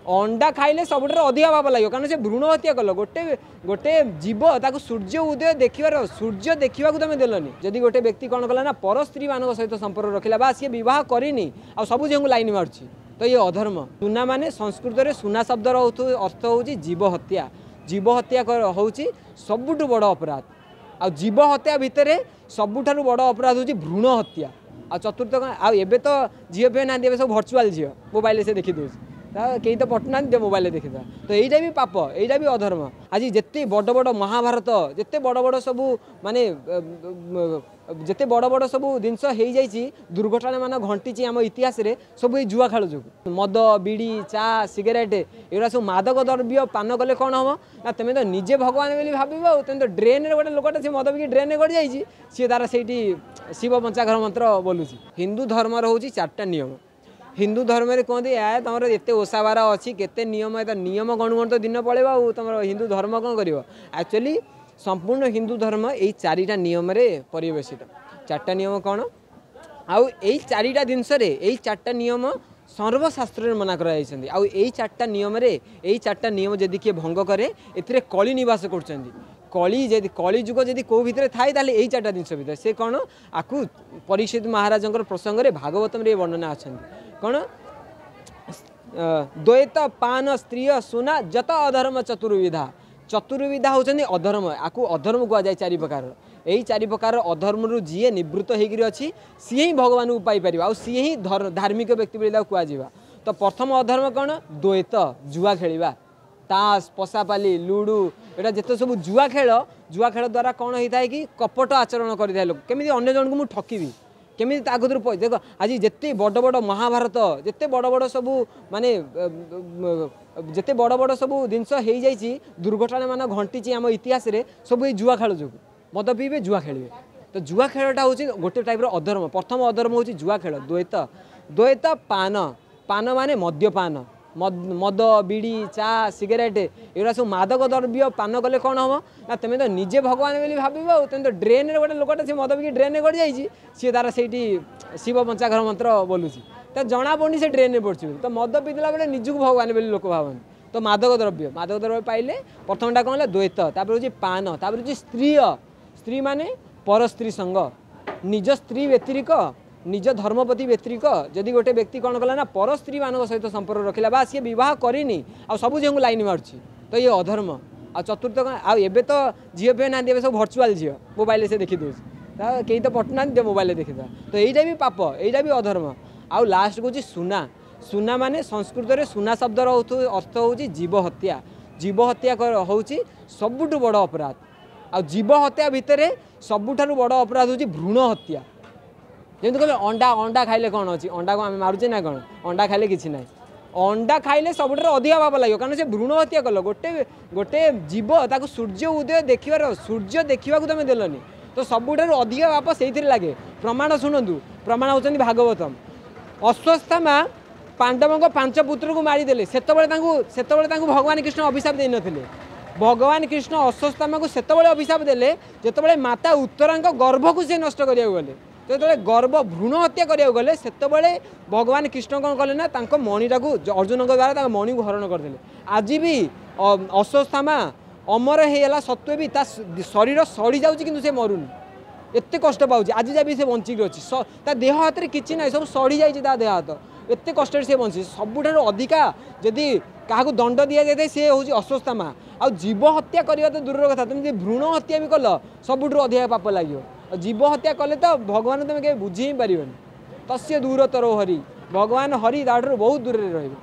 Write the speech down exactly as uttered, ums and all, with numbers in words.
ଅଣ୍ଡା ଖାଇଲେ ସବୁଠାରୁ ଅଧିକା ପାପ ଲାଗିବ, କାରଣ ସେ ଭ୍ରୂଣ ହତ୍ୟା କଲ। ଗୋଟେ ଗୋଟେ ଜୀବ ତାକୁ ସୂର୍ଯ୍ୟ ଉଦୟ ଦେଖିବାର, ସୂର୍ଯ୍ୟ ଦେଖିବାକୁ ତମେ ଦେଲନି। ଯଦି ଗୋଟେ ବ୍ୟକ୍ତି କ'ଣ କଲା ନା ପର ସ୍ତ୍ରୀମାନଙ୍କ ସହିତ ସମ୍ପର୍କ ରଖିଲା ବା ସିଏ ବିବାହ କରିନି ଆଉ ସବୁ ଝିଅଙ୍କୁ ଲାଇନ୍ ମାରୁଛି, ତ ଇଏ ଅଧର୍ମ। ସୁନା ମାନେ ସଂସ୍କୃତରେ ସୁନା ଶବ୍ଦର ଅର୍ଥ ହେଉଛି ଜୀବ ହତ୍ୟା। ଜୀବ ହତ୍ୟା ହେଉଛି ସବୁଠୁ ବଡ଼ ଅପରାଧ। ଆଉ ଜୀବ ହତ୍ୟା ଭିତରେ ସବୁଠାରୁ ବଡ଼ ଅପରାଧ ହେଉଛି ଭ୍ରୂଣ ହତ୍ୟା। ଆଉ ଚତୁର୍ଥ କ'ଣ? ଆଉ ଏବେ ତ ଝିଅ ଫିଅ ନାହାନ୍ତି, ଏବେ ସବୁ ଭର୍ଚୁଆଲ୍ ଝିଅ, ମୋବାଇଲରେ ସେ ଦେଖିଦେଉଛି, କେହି ତ ପଟୁନାହାନ୍ତି, ଯେ ମୋବାଇଲରେ ଦେଖିଦେବା। ତ ଏଇଟା ବି ପାପ, ଏଇଟା ବି ଅଧର୍ମ। ଆଜି ଯେତେ ବଡ଼ ବଡ଼ ମହାଭାରତ, ଯେତେ ବଡ଼ ବଡ଼ ସବୁ ମାନେ ଯେତେ ବଡ଼ ବଡ଼ ସବୁ ଜିନିଷ ହେଇଯାଇଛି, ଦୁର୍ଘଟଣା ମାନ ଘଟିଛି ଆମ ଇତିହାସରେ, ସବୁ ଏଇ ଜୁଆ ଖେଳ ଯୋଗୁଁ। ମଦ, ବିଡ଼ି, ଚା, ସିଗାରେଟ୍, ଏଗୁଡ଼ା ସବୁ ମାଦକ ଦ୍ରବ୍ୟ ପାନ କଲେ କ'ଣ ହେବ ନା ତୁମେ ତ ନିଜେ ଭଗବାନ ବୋଲି ଭାବିବ। ଆଉ ତୁମେ ତ ଡ୍ରେନ୍ରେ ଗୋଟେ ଲୋକଟା ସେ ମଦ ପିଇକି ଡ୍ରେନ୍ରେ ଗଡ଼ି ଯାଇଛି, ସିଏ ତାର ସେଇଠି ଶିବ ପଞ୍ଚାଘର ମନ୍ତ୍ର ବୋଲୁଛି। ହିନ୍ଦୁ ଧର୍ମର ହେଉଛି ଚାରିଟା ନିୟମ। ହିନ୍ଦୁ ଧର୍ମରେ କୁହନ୍ତି ଏ ତୁମର ଏତେ ଓଷାବାର ଅଛି, କେତେ ନିୟମ, ଏତେ ନିୟମ ଗଣୁ ଗଣୁ ତ ଦିନ ପଳେଇବ, ଆଉ ତୁମର ହିନ୍ଦୁ ଧର୍ମ କ'ଣ କରିବ? ଆକ୍ଚୁଆଲି ସମ୍ପୂର୍ଣ୍ଣ ହିନ୍ଦୁ ଧର୍ମ ଏଇ ଚାରିଟା ନିୟମରେ ପରିବେଶିତ। ଚାରିଟା ନିୟମ କ'ଣ? ଆଉ ଏଇ ଚାରିଟା ଜିନିଷରେ, ଏଇ ଚାରିଟା ନିୟମ ସର୍ବଶାସ୍ତ୍ରରେ ମନା କରାଯାଇଛନ୍ତି। ଆଉ ଏଇ ଚାରିଟା ନିୟମରେ, ଏଇ ଚାରିଟା ନିୟମ ଯଦି କିଏ ଭଙ୍ଗ କରେ, ଏଥିରେ କଳି ନିବାସ କରୁଛନ୍ତି। କଳି ଯଦି, କଳି ଯୁଗ ଯଦି କେଉଁ ଭିତରେ ଥାଏ, ତାହେଲେ ଏଇ ଚାରିଟା ଜିନିଷ ଭିତରେ। ସେ କ'ଣ? ଆକୁ ପରୀକ୍ଷିତ ମହାରାଜଙ୍କର ପ୍ରସଙ୍ଗରେ ଭାଗବତମରେ ଏ ବର୍ଣ୍ଣନା ଅଛନ୍ତି। କ'ଣ? ଦ୍ୱୈତ ପାନ ସ୍ତ୍ରୀୟ ସୁନା ଯତ ଅଧର୍ମ ଚତୁର୍ବିଧା। ଚତୁର୍ବିଧା ହେଉଛନ୍ତି ଅଧର୍ମ, ଆକୁ ଅଧର୍ମ କୁହାଯାଏ ଚାରି ପ୍ରକାରର। ଏଇ ଚାରି ପ୍ରକାରର ଅଧର୍ମରୁ ଯିଏ ନିବୃତ୍ତ ହେଇକିରି ଅଛି, ସିଏ ହିଁ ଭଗବାନଙ୍କୁ ପାଇପାରିବ, ଆଉ ସିଏ ହିଁ ଧାର୍ମିକ ବ୍ୟକ୍ତି ବୋଲି ତାକୁ କୁହାଯିବ। ତ ପ୍ରଥମ ଅଧର୍ମ କ'ଣ? ଦ୍ୱୈତ, ଜୁଆ ଖେଳିବା, ତାସ, ପଶାପାଲି, ଲୁଡ଼ୁ, ଏଇଟା ଯେତେ ସବୁ ଜୁଆ ଖେଳ। ଜୁଆ ଖେଳ ଦ୍ୱାରା କ'ଣ ହେଇଥାଏ କି କପଟ ଆଚରଣ କରିଥାଏ ଲୋକ, କେମିତି ଅନ୍ୟ ଜଣଙ୍କୁ ମୁଁ ଠକିବି, କେମିତି ତା କତିରୁ। ଦେଖ, ଆଜି ଯେତେ ବଡ଼ ବଡ଼ ମହାଭାରତ, ଯେତେ ବଡ଼ ବଡ଼ ସବୁ ମାନେ ଯେତେ ବଡ଼ ବଡ଼ ସବୁ ଜିନିଷ ହେଇଯାଇଛି, ଦୁର୍ଘଟଣା ମାନ ଘଟିଛି ଆମ ଇତିହାସରେ, ସବୁ ଏଇ ଜୁଆ ଖେଳ ଯୋଗୁଁ। ମଦ ପିଇବେ, ଜୁଆ ଖେଳିବେ। ତ ଜୁଆ ଖେଳଟା ହେଉଛି ଗୋଟେ ଟାଇପ୍ର ଅଧର୍ମ। ପ୍ରଥମ ଅଧର୍ମ ହେଉଛି ଜୁଆ ଖେଳ, ଦ୍ୱୈତ। ଦ୍ୱୈତ ପାନ, ପାନ ମାନେ ମଦ୍ୟପାନ, ମଦ, ବିଡ଼ି, ଚା, ସିଗାରେଟ୍, ଏଗୁଡ଼ା ସବୁ ମାଦକ ଦ୍ରବ୍ୟ ପାନ କଲେ କ'ଣ ହେବ ନା ତୁମେ ତ ନିଜେ ଭଗବାନ ବୋଲି ଭାବିବ। ଆଉ ତୁମେ ତ ଡ୍ରେନ୍ରେ ଗୋଟେ ଲୋକଟା ସେ ମଦ ପିଇକି ଡ୍ରେନ୍ରେ ଗଡ଼ି ଯାଇଛି, ସିଏ ତାର ସେଇଠି ଶିବ ପଞ୍ଚାଘର ମନ୍ତ୍ର ବୋଲୁଛି, ତ ଜଣା ପଡ଼ୁନି ସେ ଡ୍ରେନ୍ରେ ପଡ଼ୁଛି ବୋଲି। ତ ମଦ ପିଇଦେଲା ବେଳେ ନିଜକୁ ଭଗବାନ ବୋଲି ଲୋକ ଭାବନ୍ତି। ତ ମାଦକ ଦ୍ରବ୍ୟ, ମାଦକ ଦ୍ରବ୍ୟ ପାଇଲେ ପ୍ରଥମଟା କ'ଣ ହେଲା? ଦ୍ୱୈତ। ତାପରେ ହେଉଛି ପାନ। ତାପରେ ହେଉଛି ସ୍ତ୍ରୀୟ। ସ୍ତ୍ରୀ ମାନେ ପରସ୍ତ୍ରୀ ସଙ୍ଗ, ନିଜ ସ୍ତ୍ରୀ ବ୍ୟତିରିକ, ନିଜ ଧର୍ମପତି ବ୍ୟତିରିକ ଯଦି ଗୋଟେ ବ୍ୟକ୍ତି କ'ଣ କଲା ନା ପର ସ୍ତ୍ରୀମାନଙ୍କ ସହିତ ସମ୍ପର୍କ ରଖିଲା ବା ସିଏ ବିବାହ କରିନି ଆଉ ସବୁ ଝିଅଙ୍କୁ ଲାଇନ୍ ମାରୁଛି, ତ ଇଏ ଅଧର୍ମ। ଆଉ ଚତୁର୍ଥ କ'ଣ? ଆଉ ଏବେ ତ ଝିଅ ଫିଅ ନାହାନ୍ତି, ଏବେ ସବୁ ଭର୍ଚୁଆଲ୍ ଝିଅ, ମୋବାଇଲରେ ସେ ଦେଖିଦେଉଛି, କେହି ତ ପଟୁନାହାନ୍ତି, ମୋବାଇଲରେ ଦେଖିଦେବା। ତ ଏଇଟା ବି ପାପ, ଏଇଟା ବି ଅଧର୍ମ। ଆଉ ଲାଷ୍ଟ ହେଉଛି ସୁନା। ସୁନା ମାନେ ସଂସ୍କୃତରେ ସୁନା ଶବ୍ଦର ଅର୍ଥ ହେଉଛି ଜୀବ ହତ୍ୟା। ଜୀବ ହତ୍ୟା ହେଉଛି ସବୁଠୁ ବଡ଼ ଅପରାଧ। ଆଉ ଜୀବ ହତ୍ୟା ଭିତରେ ସବୁଠାରୁ ବଡ଼ ଅପରାଧ ହେଉଛି ଭ୍ରୂଣ ହତ୍ୟା। ଯେମିତି କହିଲେ ଅଣ୍ଡା, ଅଣ୍ଡା ଖାଇଲେ କ'ଣ ଅଛି? ଅଣ୍ଡାକୁ ଆମେ ମାରୁଛେ ନା କ'ଣ? ଅଣ୍ଡା ଖାଇଲେ କିଛି ନାହିଁ। ଅଣ୍ଡା ଖାଇଲେ ସବୁଠାରୁ ଅଧିକା ପାପ ଲାଗିବ, କାରଣ ସେ ଭ୍ରୂଣ ହତ୍ୟା କଲ। ଗୋଟେ ଗୋଟେ ଜୀବ ତାକୁ ସୂର୍ଯ୍ୟ ଉଦୟ ଦେଖିବାର, ସୂର୍ଯ୍ୟ ଦେଖିବାକୁ ତମେ ଦେଲନି, ତ ସବୁଠାରୁ ଅଧିକା ପାପ ସେଇଥିରେ ଲାଗେ। ପ୍ରମାଣ ଶୁଣନ୍ତୁ, ପ୍ରମାଣ ହେଉଛନ୍ତି ଭାଗବତମ। ଅଶ୍ୱତ୍ଥାମା ପାଣ୍ଡବଙ୍କ ପାଞ୍ଚ ପୁତ୍ରକୁ ମାରିଦେଲେ, ସେତେବେଳେ ତାଙ୍କୁ ସେତେବେଳେ ତାଙ୍କୁ ଭଗବାନ କୃଷ୍ଣ ଅଭିଶାପ ଦେଇନଥିଲେ। ଭଗବାନ କୃଷ୍ଣ ଅଶ୍ୱତ୍ଥାମାକୁ ସେତେବେଳେ ଅଭିଶାପ ଦେଲେ ଯେତେବେଳେ ମାତା ଉତ୍ତରାଙ୍କ ଗର୍ଭକୁ ସେ ନଷ୍ଟ କରିବାକୁ ଗଲେ। ଯେତେବେଳେ ଗର୍ଭ ଭ୍ରୂଣ ହତ୍ୟା କରିବାକୁ ଗଲେ, ସେତେବେଳେ ଭଗବାନ କୃଷ୍ଣ କ'ଣ କଲେ ନା ତାଙ୍କ ମଣିଟାକୁ ଅର୍ଜୁନଙ୍କ ଦ୍ୱାରା ତାଙ୍କ ମଣିକୁ ହରଣ କରିଦେଲେ। ଆଜି ବି ଅଶ୍ୱତ୍ଥାମା ଅମର ହେଇଗଲା ସତ୍ତ୍ୱେ ବି ତା ଶରୀର ସଢ଼ି ଯାଉଛି, କିନ୍ତୁ ସେ ମରୁନି, ଏତେ କଷ୍ଟ ପାଉଛି। ଆଜି ଯାଏ ବି ସେ ବଞ୍ଚିକି ଅଛି। ତା ଦେହ ହାତରେ କିଛି ନାହିଁ, ସବୁ ସଢ଼ି ଯାଇଛି ତା ଦେହ ହାତ, ଏତେ କଷ୍ଟରେ ସେ ବଞ୍ଚିଛି। ସବୁଠାରୁ ଅଧିକା ଯଦି କାହାକୁ ଦଣ୍ଡ ଦିଆଯାଇଥାଏ, ସେ ହେଉଛି ଅଶ୍ୱତ୍ଥାମା। ଆଉ ଜୀବ ହତ୍ୟା କରିବା ତ ଦୂରର କଥା, ତୁମେ ଯଦି ଭ୍ରୂଣ ହତ୍ୟା ବି କଲ, ସବୁଠାରୁ ଅଧିକା ପାପ ଲାଗିବ। ଆଉ ଜୀବ ହତ୍ୟା କଲେ ତ ଭଗବାନ ତୁମେ କେବେ ବୁଝି ହିଁ ପାରିବନି। ତସ୍ୟ ଦୂରତର ହରି, ଭଗବାନ ହରି ତାଠାରୁ ବହୁତ ଦୂରରେ ରହିବେ।